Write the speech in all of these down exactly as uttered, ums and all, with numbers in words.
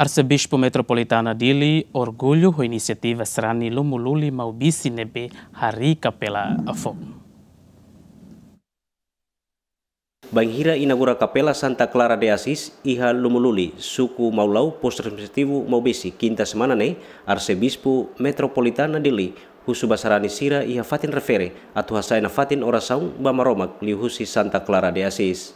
Arsebispu Metropolitana Dili orgullu ho inisiativa sarani Lumu Luli Maubisse ne'ebé harii kapela foun. Bainhira inaugura Kapela Santa Clara de Assis iha Lumu Luli, suku Maulau, postu administrativu Maubisse, kinta semana ne'e, Arsebispu Metropolitana Dili husu ba sarani sira iha fatin refere atu hasa'e nafatin orasaun ba Maromak liuhusi Santa Clara de Assis.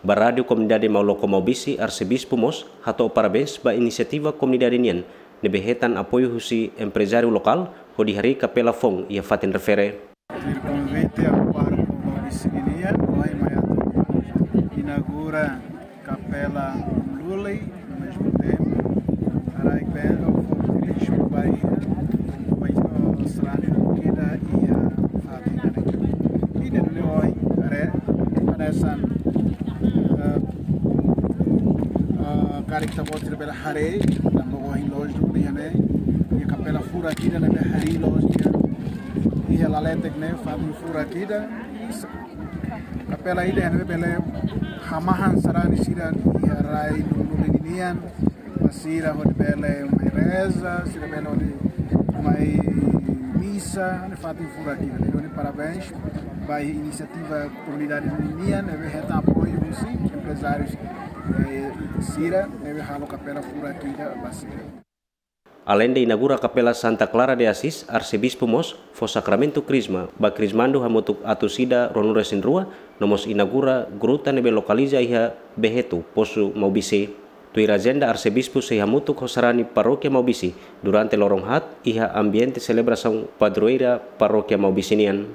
Ba Rádiu Komunidade Mauloko Maubisse, Arsebispu mós hato'o parabéns ba inisiativa komunidade nian ne'ebé hetan apoiu husi emprezáriu lokál hodi harii kapela foun iha fatin refere. Tuir konvite ba pároku Maubisse nian, ohin mai atu inaugura Kapela Luli, ao mesmo tempo, harii belo, fogo de lixo, Bahia, vai sarani ida iha fatin ne'e. Ida-ne'e ohin, haree, hanesan, eh, eh, karik ita-boot sira bele haree, tanba ohin loos duni iha ne'e, iha kapela furak ida ne'ebé harii loos iha, iha laletek ne'e, fatin furak ida, kapela ida ne'ebé bele hamahan sarani sira iha rai Lumu Luli nian, ba sira hodi bele mai reza, sira bele hodi mai misa, ne'e fatin furak ida. Ne'e duni parabéns ba inisiativa komunidade nian, ne'ebé hetan apoiu husi emprezáriu, eh, sira, ne'ebé halo kapela furak ida ba sira. Aleinde inaugura Kapela Santa Clara de Assis, Arsebispu mós fó sakramentu Krisma ba Krismandu hamutuk atus ida ruanulu-resin-rua, no mós inaugura gruta ne'ebé lokaliza iha Behetu, postu Maubisse. Tuir ajenda, Arsebispu sei hamutuk ho sarani parókia Maubisse durante loron haat iha ambiente selebrasaun padroeira parókia Maubisse nian.